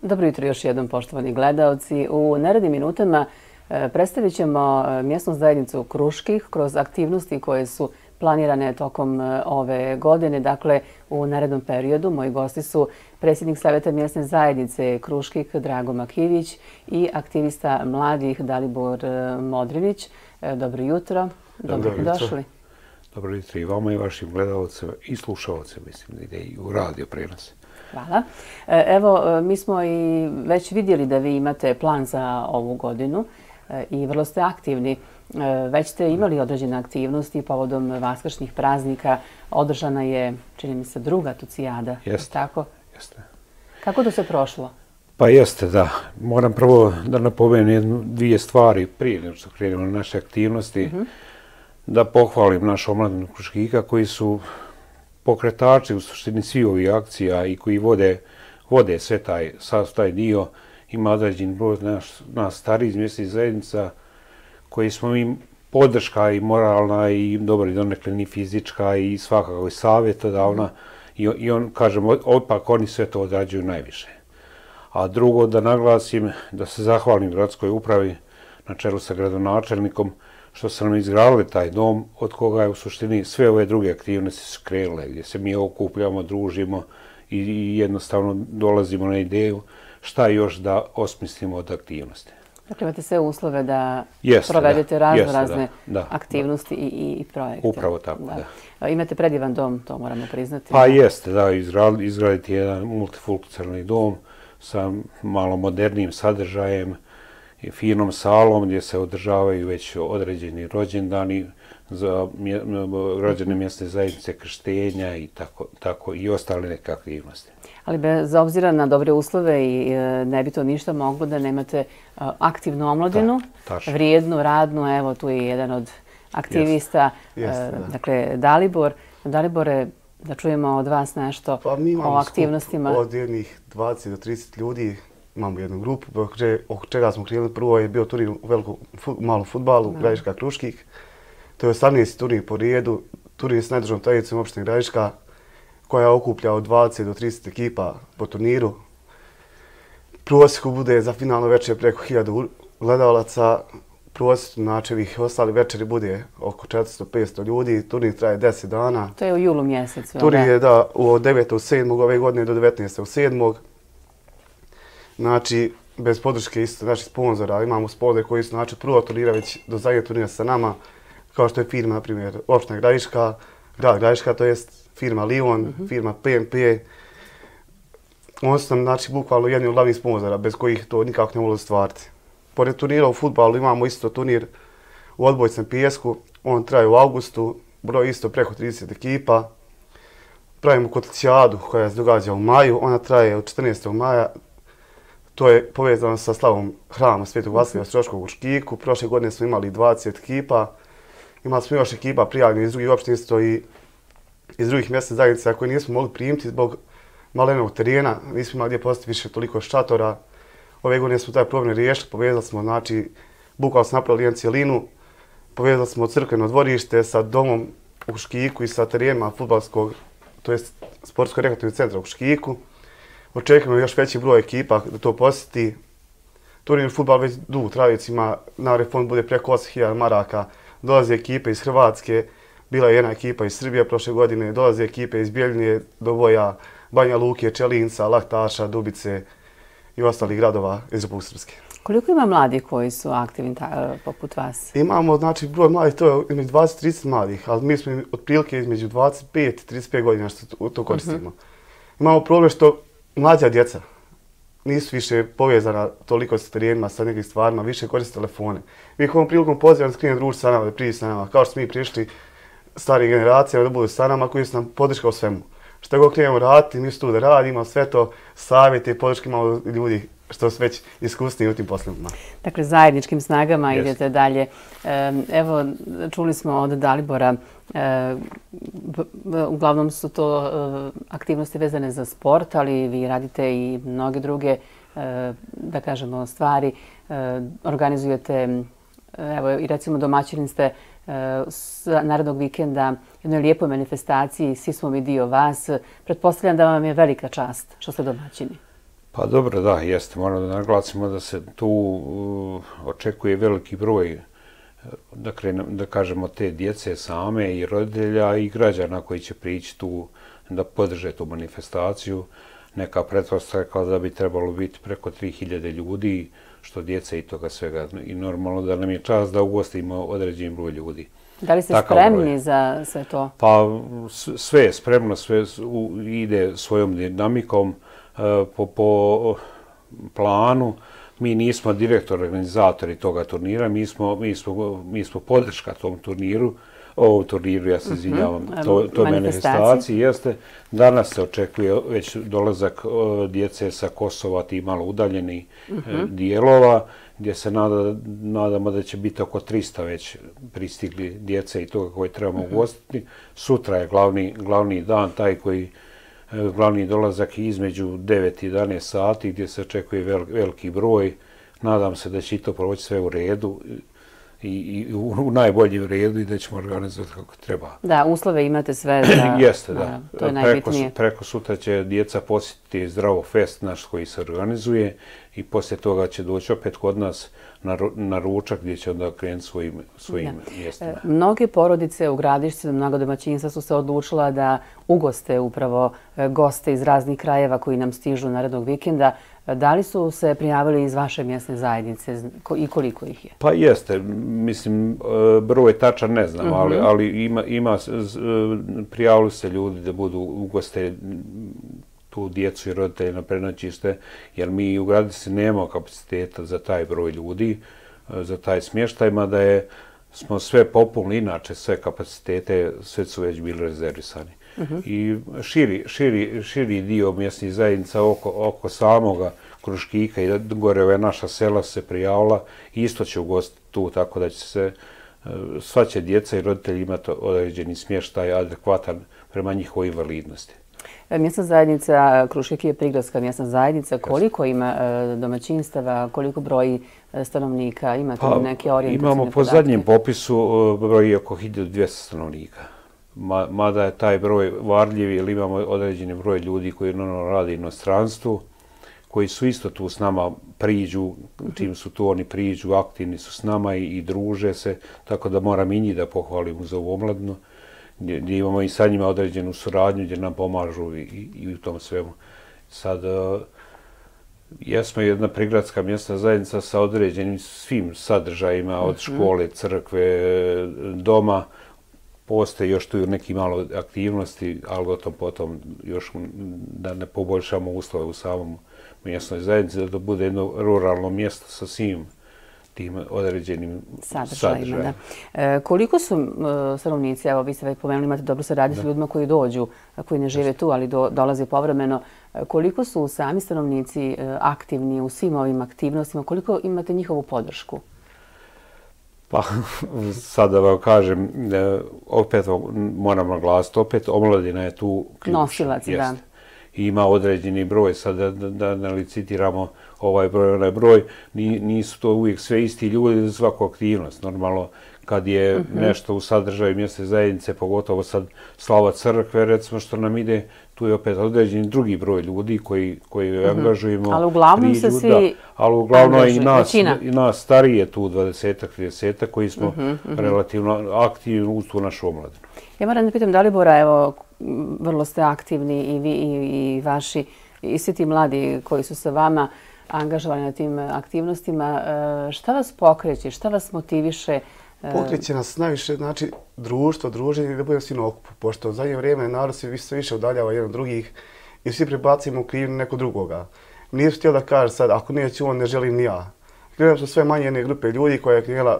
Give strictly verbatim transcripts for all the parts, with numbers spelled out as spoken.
Dobro jutro još jednom, poštovani gledaoci. U narednim minutama predstavit ćemo mjesnu zajednicu Kruških kroz aktivnosti koje su planirane tokom ove godine. Dakle, u narednom periodu moji gosti su predsjednik Savjeta mjesne zajednice Kruških Drago Makivić i aktivista mladih Dalibor Modrinić. Dobro jutro. Dobro došli. Dobro jutro i vama i vašim gledalcima i slušalcima, mislim da ide i u radio prenos. Hvala. Evo, mi smo i već vidjeli da vi imate plan za ovu godinu i vrlo ste aktivni. Već ste imali određene aktivnosti povodom vaskršnjih praznika. Održana je, čini mi se, druga tucijada. Jeste. Tako? Jeste. Kako to se prošlo? Pa jeste, da. Moram prvo da napomenem jednu, dvije stvari prije nego što krenemo na naše aktivnosti. Mm-hmm. Da pohvalim našu omladinu Kruškika koji su pokretači u suštini svih ovih akcija i koji vode, vode sve taj, sav taj dio. Ima određen broj nas, nas starih iz mjesnih zajednica koji smo im podrška i moralna i dobro i donekle ni fizička i svakako i savjetodavna i, i on, kažem, opak oni sve to odrađuju najviše. A drugo, da naglasim, da se zahvalim gradskoj upravi na čelu sa gradonačelnikom što su nam izgradili taj dom od koga je u suštini sve ove druge aktivnosti su krenule, gdje se mi okupljamo, družimo i, i jednostavno dolazimo na ideju šta još da osmislimo od aktivnosti. Dakle, imate sve uslove da jeste, provedete da, razno jeste, razne da, da, aktivnosti i, i, i projekte. Upravo tako, da. da. Imate predivan dom, to moramo priznati. Pa jeste, da, izgraditi jedan multifunkcionalni dom sa malo modernijim sadržajem i finom salom gdje se održavaju već određeni rođendani za građane mjesne zajednice, krštenja i tako, tako i ostale neke aktivnosti. Ali bez obzira na dobre uslove i ne bi to ništa moglo da nemate aktivnu omladinu, da, vrijednu, radnu, evo tu je jedan od aktivista, Jeste, jeste, dakle Dalibor. Dalibore, da čujemo od vas nešto pa mi o aktivnostima. Od jednih dvadeset do trideset ljudi imamo jednu grupu, oko čega smo krenuli. Prvo je bio turnir u velikom malom fudbalu, Gradiška Kruških. To je osamnaesti turnir po redu, turnir s najdržavom tradicijom opštine Gradiška, koja okuplja od dvadeset do trideset ekipa po turniru. Prosjeku bude za finalno večer preko hiljadu gledalaca. Prosjeku znači ovih ostali večeri bude oko četiristo do petsto ljudi. Turnir traje deset dana. To je u julu mjesecu. Turnir je da od devetog sedmog ove godine do devetnaestog sedmog Znači, bez podrške isto naših sponzora. Imamo sponzore koji su znači prvo turnira već do zadnjeg turnira sa nama, kao što je firma, na primjer, opština Gradiška, grad Gradiška, to jest firma Lion, mm-hmm. firma P M P. Oni su nam, znači, bukvalno jedni od glavnih sponzora, bez kojih to nikako ne može stvariti. Pored turnira u fudbalu imamo isto turnir u odbojcem pijesku. On traje u avgustu, broj isto preko trideset ekipa. Pravimo kotlicijadu koja se događa u maju, ona traje od četrnaestog maja. To je povezano sa slavom hrama Svetog Vasilija Ostroškog u Škiku. Prošle godine smo imali dvadeset ekipa. Imali smo još ekipa prijavljenih iz drugih opština isto i iz drugih mjesnih zajednica koje nismo mogli primiti zbog malenog terena. Nismo imali gdje postaviti više toliko šatora. Ove godine smo taj problem riješili. Povezali smo, znači, bukvalno smo napravili jednu cijelinu. Povezali smo crkveno dvorište sa domom u Škiku i sa terenima fudbalskog, to jest sportsko-rekreativnog centra u Škiku. Očekujemo još veći broj ekipa da to posjeti. Turnir fudbal već dugo tradiciju ima, na refond bude preko osam hiljada maraka. Dolaze ekipe iz Hrvatske, bila je jedna ekipa iz Srbije prošle godine, dolaze ekipe iz Bjeljine, Doboja, Banja Luke, Čelinca, Laktaša, Dubice i ostalih gradova iz Republike Srpske. Koliko ima mladih koji su aktivni poput vas? Imamo, znači, broj mladih, to je između dvadeset do trideset mladih, ali mi smo otprilike između dvadeset pet i trideset pet godina što to koristimo. Mm-hmm. Imamo problem što mlađa djeca nisu više povezana toliko sa terenima, sa nekim stvarima, više koriste telefone. Mi ih ovom prilikom pozivamo da skrine druži sa nama, da priđi sa nama, kao što smo mi prišli starih generacija da budu sa nama koji su nam podrška u svemu. Što god krenemo raditi, mi su tu da radimo, sve to savjete i podrške imamo ljudi što su već iskusni u tim poslovima. Dakle, zajedničkim snagama yes. idete dalje. Evo, čuli smo od Dalibora, uglavnom su to aktivnosti vezane za sport, ali vi radite i mnoge druge, da kažemo, stvari. Organizujete, evo, i recimo domaćini ste narednog vikenda jednoj lijepoj manifestaciji, svi smo mi dio vas. Pretpostavljam da vam je velika čast što ste domaćini. Pa dobro, da, jeste. Moramo da naglasimo da se tu uh, očekuje veliki broj, da, krenem, da kažemo, te djece same i roditelja i građana koji će prići tu da podrže tu manifestaciju. Neka pretpostavka da bi trebalo biti preko tri hiljade ljudi, što djece i toga svega. I normalno da nam je čast da ugostimo određen broj ljudi. Da li ste Takav spremni broj. za sve to? Pa sve je spremno, sve ide svojom dinamikom, po, po planu. Mi nismo direktor, organizatori toga turnira, mi smo, mi smo, mi smo podrška tom turniru, ovom turniru, ja se izvinjavam, mm-hmm. to, to manifestaciji jeste. Danas se očekuje već dolazak djece sa Kosova, ti malo udaljeni mm-hmm. dijelova, gdje se nada, nadamo da će biti oko trista već pristigli djece i toga koje trebamo mm-hmm. ugostiti. Sutra je glavni, glavni dan, taj koji glavni dolazak između devet i jedanaest sati, gdje se očekuje vel, veliki broj. Nadam se da će i to proći sve u redu i, i u, u najboljem redu i da ćemo organizovati kako treba. Da, uslove imate sve za... Jeste, da. da. To je preko, najbitnije. Preko sutra će djeca posjetiti Zdravo fest naš koji se organizuje i poslije toga će doći opet kod nas na, na ručak gdje će onda krenuti svojim, svojim mjestima. E, mnoge porodice u Gradišci, mnogo domaćinstva su se odlučila da ugoste upravo goste iz raznih krajeva koji nam stižu narednog vikenda. Da li su se prijavili iz vaše mjesne zajednice i koliko ih je? Pa jeste. Mislim, broj tačan ne znam, mm-hmm. ali, ali ima, ima, prijavili se ljudi da budu ugoste tu djecu i roditelje na prenoćište, jer mi u Gradišci nemamo kapaciteta za taj broj ljudi, za taj smještaj, mada je, smo sve popunili, inače sve kapacitete, sve su već bili rezervisani. Uh-huh. I širi, širi, širi dio mjesnih zajednica oko, oko samoga Kruškika i gore ove naša sela se prijavila, isto će ugostiti tu, tako da će se, sva će djeca i roditelji imati određeni smještaj adekvatan prema njihovoj invalidnosti. Mjesna zajednica Krušik je prigradska mjesna zajednica. Koliko ima domaćinstava, koliko broji stanovnika? Imate pa, neke orijentacijne imamo po podatke? zadnjem popisu broji oko hiljadu dvjesto stanovnika. Mada je taj broj varljiv, jer imamo određeni broj ljudi koji normalno rade u inostranstvu, koji su isto tu s nama priđu, čim su tu oni priđu, aktivni su s nama i, i druže se, tako da moram i njih da pohvalim za ovu omladinu, gdje, gdje imamo i sa njima određenu suradnju, gdje nam pomažu i, i, i u tom svemu. Sad, uh, jesmo jedna prigradska mjesna zajednica sa određenim svim sadržajima, od škole, crkve, doma. Postoje još tu neki malo aktivnosti, ali o tom potom još da ne poboljšamo uslove u samom mjesnoj zajednici, da to bude jedno ruralno mjesto sa svim tim određenim sadržajima. sadržajima. Da. E, koliko su e, stanovnici, evo vi ste već pomenuli, imate dobro saradnju s ljudima koji dođu, koji ne žive tu, ali do, dolaze povremeno. E, koliko su sami stanovnici e, aktivni u svim ovim aktivnostima, koliko imate njihovu podršku? Pa, sad da vam kažem, opet moram naglasiti, opet omladina je tu ključ. Nosilac, da. I ima određeni broj, sad da, da, da li citiramo ovaj broj, onaj broj, nisu to uvijek sve isti ljudi za svaku aktivnost. Normalno, kad je mm-hmm. nešto u sadržaju mjesne zajednice, pogotovo sad slava crkve, recimo što nam ide, tu je opet određeni drugi broj ljudi koji, koji mm-hmm. angažujemo. Ali uglavnom priđu, se svi da, ali uglavnom i nas, i nas starije tu, dvadesetak, tridesetak, koji smo mm-hmm. relativno aktivni u tu našu omladinu. Ja moram da pitam Dalibora, evo, vrlo ste aktivni i vi i, i vaši, i svi ti mladi koji su sa vama angažovani na tim aktivnostima. Šta vas pokreće, šta vas motiviše? Pokreće nas najviše, znači, društvo, druženje, da budemo svi na okupu, pošto u zadnje vrijeme narod se sve više udaljava jedan od drugih i svi prebacimo krivnju nekog drugoga. Nisu htjeli da kaže sad, ako neću on, ne želim ni ja. Krenemo su sve manje jedne grupe ljudi koja je krenula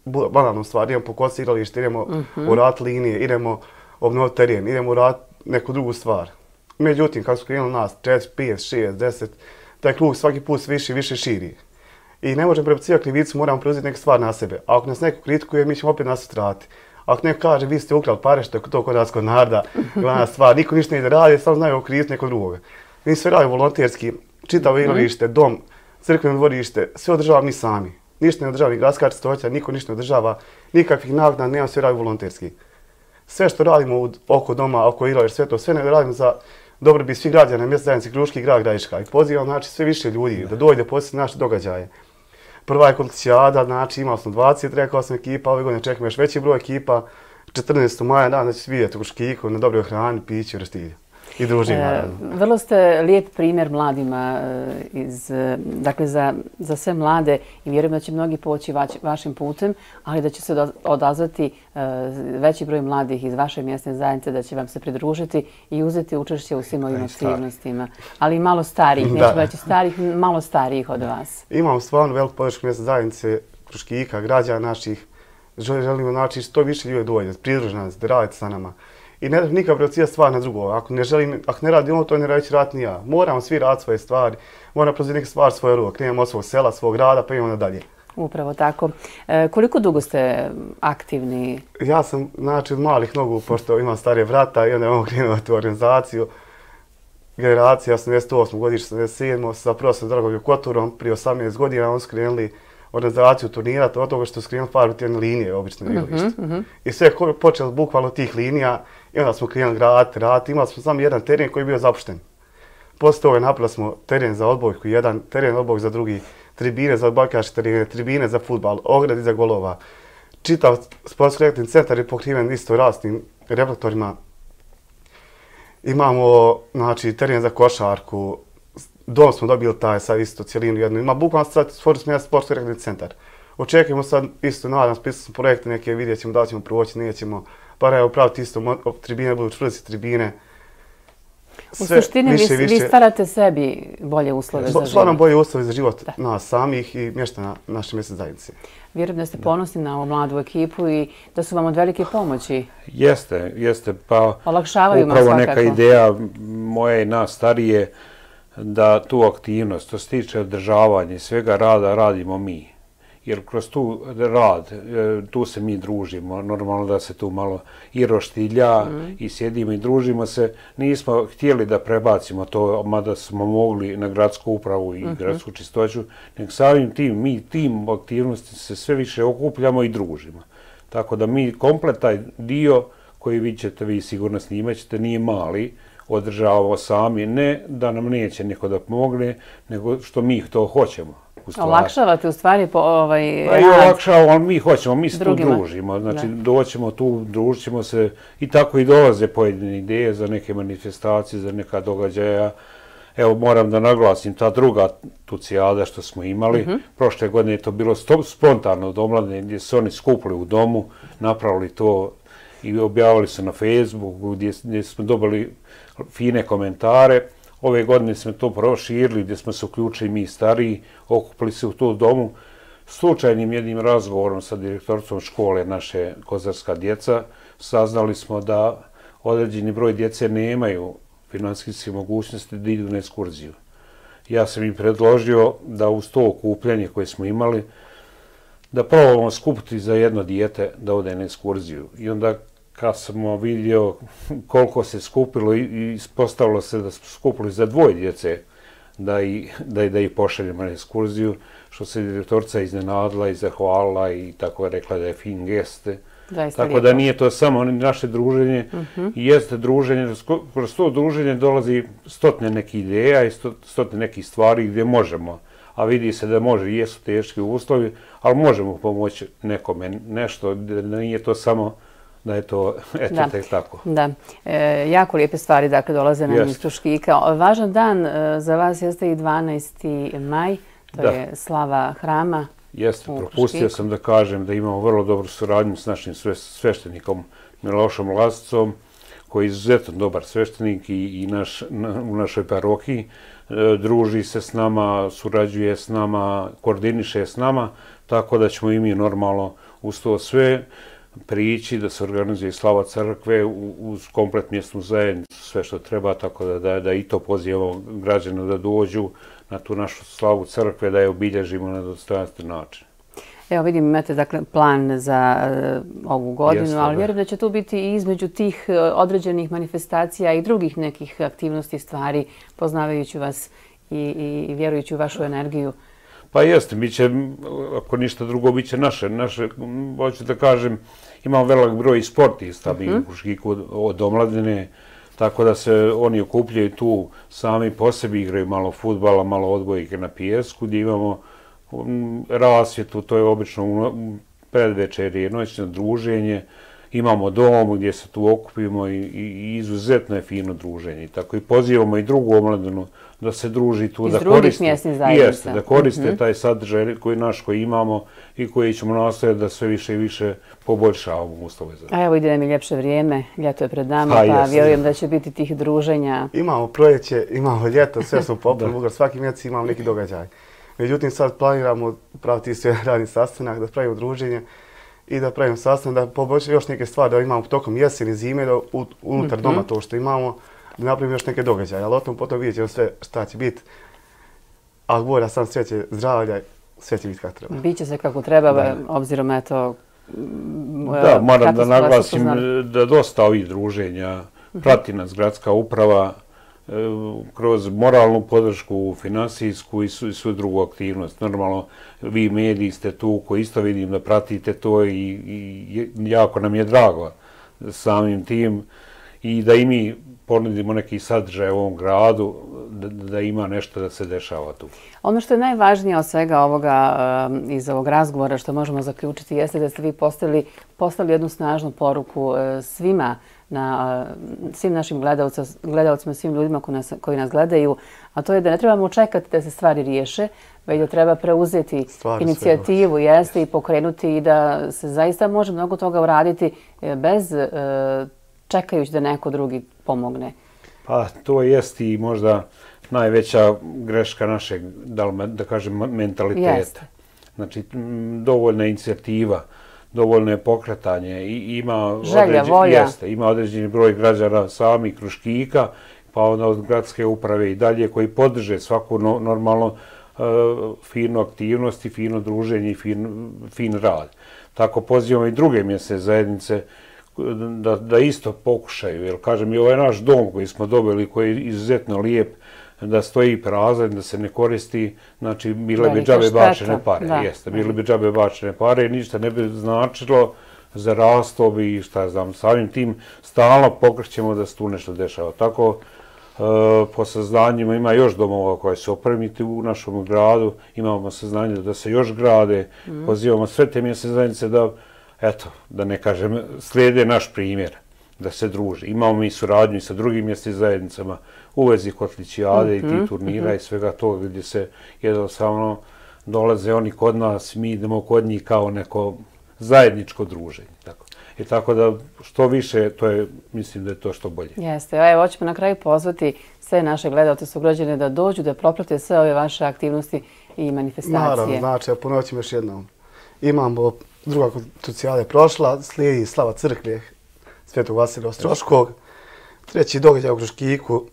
banalnu stvar, idemo po kosi igralište, idemo uh-huh. u rat linije, idemo obnoviti teren, idemo u rat neku drugu stvar. Međutim, kako su krenuli nas, četiri, pet, šest, deset, taj krug svaki put više i više širi. I ne možemo prebacivati krivicu, moramo preuzeti neke stvari na sebe. A ako nas neko kritikuje, mi ćemo opet nas utrati. Ako neko kaže, vi ste ukrali pare, što je to kod nas kod naroda, glavna stvar, niko ništa ne ide radi, samo znaju kriviti nekog drugoga. Mi sve radimo volonterski, čitavo igralište, dom, crkveno dvorište, sve održavamo mi sami. Ništa ne održava, ni gradska čistoća, niko ništa ne održava, nikakvih naknada, nema, sve radimo volonterski. Sve što radimo oko doma, oko igrališta, sve to, sve ne radimo za dobro bi svih građana mjesne zajednice Kruški i grad Gradiška. I pozivam znači sve više ljudi da dođe posjetiti naše događaje. Prva je Konticijada, znači imali smo dvadeset, rekao sam, ekipa, ove godine čekamo još veći broj ekipa. četrnaestog maja, da, znači vidjeti u Kruškiku na dobroj hrani, piću, restilju. I družim, naravno. Vrlo ste lijep primjer mladima iz, dakle, za, za sve mlade i vjerujem da će mnogi poći vaš, vašim putem, ali da će se odazvati veći broj mladih iz vaše mjesne zajednice, da će vam se pridružiti i uzeti učešće u svim ovim aktivnostima. Ali i malo starijih, neću reći starih, malo starijih od vas. Imamo stvarno veliku podršku mjesne zajednice Kruškika, građana naših. Želimo znači što više ljudi dođe, pridruži nas, da radite sa nama. I ne treba nikad prebacivati stvar na drugo. Ako ne želim, ako ne radim ovo, to ne reći raditi ni ja. Moramo svi raditi svoje stvari, moramo preuzeti neke stvari svoje ruke. Krenemo od svog sela, svog grada, pa idemo nadalje. Upravo tako. E, koliko dugo ste aktivni? Ja sam, znači, od malih nogu, pošto imam starije vrata i onda imamo krenuo tu organizaciju. Generacija osamdeset osme godište, osamdeset sedme sa profesorom Dragoljubom Koturom, prije osamnaest godina, on su krenuli organizaciju turnira, od toga što su krenuli farbiti jedne linije, obično na igralištu. Mm -hmm. I sve je počelo bukvalno tih linija i onda smo krenuli graditi, raditi. Imali smo samo jedan teren koji je bio zapušten. Poslije toga napravili smo teren za odbojku, jedan teren odbojku za drugi, tribine za odbojkaške terene, tribine za fudbal, ogradi za golova. Čitav sportsko-rekreativni centar je pokriven isto rasnim reflektorima. Imamo, znači, teren za košarku. Dom smo dobili taj sad isto cijelinu jednu. Ima bukvalno sad stvorili smo jedan sportsko-rekreativni centar. Očekujemo sad isto, nadam, spisali smo projekte neke, vidjet ćemo da li ćemo proći, nećemo. Bar evo praviti isto, tribine budu čvrste tribine. U suštini vi, vi stvarate sebi bolje uslove za život. Stvarno bolje uslove za život da. Nas samih i mještana naše mjesne zajednice. Vjerujem da ste ponosni na ovu mladu ekipu i da su vam od velike pomoći. Jeste, jeste. Pa olakšavaju vam upravo svakako. Neka ideja moje i nas starije da tu aktivnost, što se tiče održavanja i svega rada, radimo mi. Jer kroz tu rad, tu se mi družimo, normalno da se tu malo i roštilja mm. i sjedimo i družimo se. Nismo htjeli da prebacimo to, mada smo mogli na gradsku upravu i mm -hmm. gradsku čistoću, nego samim tim, mi tim aktivnosti se sve više okupljamo i družimo. Tako da mi komplet taj dio koji vi ćete, vi sigurno snimat ćete, nije mali, održavamo sami, ne da nam neće neko da pomogne, nego što mi to hoćemo. Olakšavate u stvari po ovaj... Pa i olakšavamo, ali mi hoćemo, mi se tu družimo. Znači, doćemo tu, družit ćemo se i tako i dolaze pojedine ideje za neke manifestacije, za neka događaja. Evo, moram da naglasim, ta druga tucijada što smo imali, mm-hmm. prošle godine je to bilo spontano od omladine, gdje su oni skupili u domu, napravili to i objavili se na Facebooku, gdje, gdje smo dobili fine komentare. Ove godine smo to proširili, gdje smo se uključili mi stariji, okupili se u tu domu. Slučajnim jednim razgovorom sa direktorcom škole naše Kozarska djeca, saznali smo da određeni broj djece nemaju financijske mogućnosti da idu na ekskurziju. Ja sam im predložio da uz to okupljanje koje smo imali, da probamo skupiti za jedno dijete da ode na ekskurziju. I onda kad smo vidio koliko se skupilo i ispostavilo se da smo skupili za dvoje djece da i, da, da ih pošaljemo na ekskurziju, što se direktorica iznenadila i zahvalila i tako je rekla da je fin geste. Zaista tako da nije to samo naše druženje, uh-huh. i jeste druženje, kroz to druženje dolazi stotne nekih ideja i stotne nekih stvari gdje možemo, a vidi se da može, jesu teški uslovi, ali možemo pomoći nekome nešto, da nije to samo da je to, eto, da. Tek tako. Da, e, jako lijepe stvari, dakle, dolaze nam iz Kruškika. Važan dan e, za vas jeste i dvanaesti maj, to da. Je slava hrama. Jeste, propustio sam da kažem da imamo vrlo dobru suradnju s našim sveštenikom Milošom Lasicom, koji je izuzetno dobar sveštenik i, i naš, na, u našoj parohiji. E, druži se s nama, surađuje s nama, koordiniše s nama, tako da ćemo i mi normalno uz to sve prići da se organizuje slava crkve uz komplet mjesnu zajednicu, sve što treba, tako da, da, da i to pozivamo građane da dođu na tu našu slavu crkve, da je obilježimo na dostojanstven način. Evo vidim, imate dakle plan za uh, ovu godinu, Jeste, ali vjerujem da će tu biti i između tih uh, određenih manifestacija i drugih nekih aktivnosti, stvari, poznavajući vas i, i, i vjerujući u vašu energiju. Pa jeste, bit će, ako ništa drugo, bit će naše, naše, hoću da kažem, imamo velik broj sportista, mi u Kruškiku od omladine, tako da se oni okupljaju tu, sami po sebi igraju malo fudbala, malo odbojke na pijesku, gdje imamo rasvjetu, to je obično predvečerje, noćno druženje, imamo dom gdje se tu okupimo i, i izuzetno je fino druženje. Tako i pozivamo i drugu omladinu da se druži tu, iz da drugih koriste, mjesnih zajednica. Jeste, da koriste Mm-hmm. taj sadržaj koji naš koji imamo i koji ćemo nastojati da sve više i više poboljšavamo uslove za. A evo ide nam i ljepše vrijeme, ljeto je pred nama, Pa, pa jeste. vjerujem da će biti tih druženja. Imamo proljeće, imamo ljeto, sve smo popili, Bugar, svaki mjesec imamo neki događaj. Međutim, sad planiramo praviti sve radni sastanak, da pravimo druženje i da pravimo sastanak, da poboljšamo još neke stvari, da imamo tokom jeseni, zime, da u, unutar Mm-hmm. doma to što imamo, da napravimo još neke događaje. Ali o tom potom vidjet ćemo sve šta će biti. A Bog da sam sreće, zdravlja, sve će biti kako treba. Biće se kako treba, Da. obzirom eto... Da, moram da kako ste vas naglasim upoznali. da dosta ovih druženja prati nas gradska uprava e, kroz moralnu podršku, finansijsku i svu, svu drugu aktivnost. Normalno, vi mediji ste tu koji isto vidim da pratite to i, i jako nam je drago samim tim i da i mi ponudimo neki sadržaj u ovom gradu, da, da ima nešto da se dešava tu. Ono što je najvažnije od svega ovoga um, iz ovog razgovora što možemo zaključiti jeste da ste vi poslali, poslali jednu snažnu poruku uh, svima, na uh, svim našim gledalcima, gledalcima, svim ljudima koji nas, koji nas gledaju, a to je da ne trebamo čekati da se stvari riješe, već da treba preuzeti Stvari inicijativu, jeste, i pokrenuti i da se zaista može mnogo toga uraditi bez uh, čekajući da neko drugi pomogne. Pa to jest i možda najveća greška našeg, da, li, da kažem, mentaliteta. Jeste. Znači, m, dovoljna inicijativa, dovoljno je pokretanje i ima, Želja, određen, volja. jeste, ima određeni broj građana sami Kruškika, pa onda od gradske uprave i dalje koji podrže svaku no, normalno uh, finu aktivnost i fino druženje i fin, fin rad. Tako pozivamo i druge mjesne zajednice Da, da isto pokušaju, jer kažem i ovaj naš dom koji smo dobili, koji je izuzetno lijep, da stoji prazan, da se ne koristi, znači bile bi džabe bačene pare, da. Jeste, bile bi džabe bačene pare i ništa ne bi značilo, zarastao bi i šta znam, samim tim stalno pokrećemo da se tu nešto dešava. Tako, e, po saznanjima ima još domova koje se opremiti u našom gradu, imamo saznanje da se još grade, mm. pozivamo sve te mjesne zajednice da eto, da ne kažem, slijede naš primjer, da se druži. Imamo mi suradnju i sa drugim mjesnim zajednicama u vezi kotlićijade mm-hmm, i tih turnira mm-hmm. i svega toga gdje se jednostavno dolaze oni kod nas, mi idemo kod njih kao neko zajedničko druženje. Tako. I tako da što više, to je, mislim da je to što bolje. Jeste, evo hoćemo na kraju pozvati sve naše gledalce, sugrađane da dođu, da proprate sve ove vaše aktivnosti i manifestacije. Naravno, znači, ponovit ćemo još jednom. Imamo druga krucijala je prošla, slijedi slava crkve Svetog Vasilija Ostroškog. Treći događaj u Kruškiku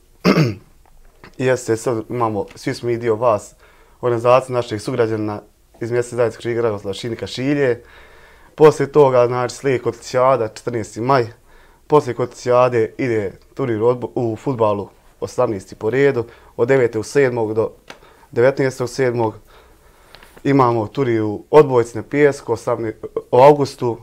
jeste, sad imamo, svi smo i dio vas, organizacija naših sugrađana iz mjesne zajednice Kruškika Dragoslava Šinika Šilje. Poslije toga, znači, slijedi kotlićijada, četrnaesti maj. Poslije kotlićijade ide turnir u fudbalu osamnaesti po redu, od devetog sedmog do devetnaestog sedmog Imamo turnir u odbojci na pijesku u augustu.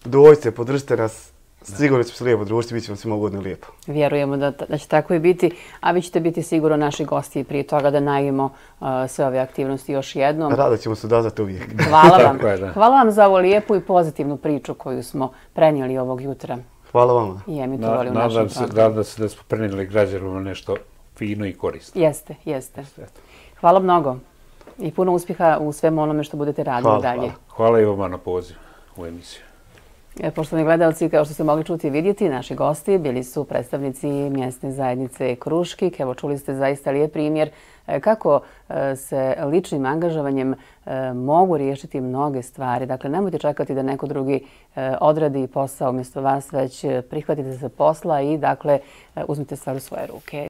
Dođite, podržite nas, sigurno ćemo se lijepo družiti, bit ćemo svima ugodno i lijepo. Vjerujemo da, da će tako i biti, a vi ćete biti sigurno naši gosti prije toga da najavimo uh, sve ove aktivnosti još jednom. Rado ćemo se odazvati uvijek. Hvala vam. Hvala vam za ovu lijepu i pozitivnu priču koju smo prenijeli ovog jutra. Hvala vama. I emitovali u našem Nadam se, programu. nadam se da smo prenijeli građanima nešto fino i korisno. Jeste, jeste. Hvala mnogo. I puno uspjeha u svemu onome što budete radili hvala, dalje. Hvala. Hvala i vama na poziv u emisiju. Poštovani gledalci, kao što ste mogli čuti i vidjeti, naši gosti bili su predstavnici mjesne zajednice Kruškik. Evo, čuli ste zaista lijep primjer kako se ličnim angažovanjem mogu riješiti mnoge stvari. Dakle, nemojte čekati da neko drugi odradi posao umjesto vas, već prihvatite se posla i dakle uzmite stvar u svoje ruke.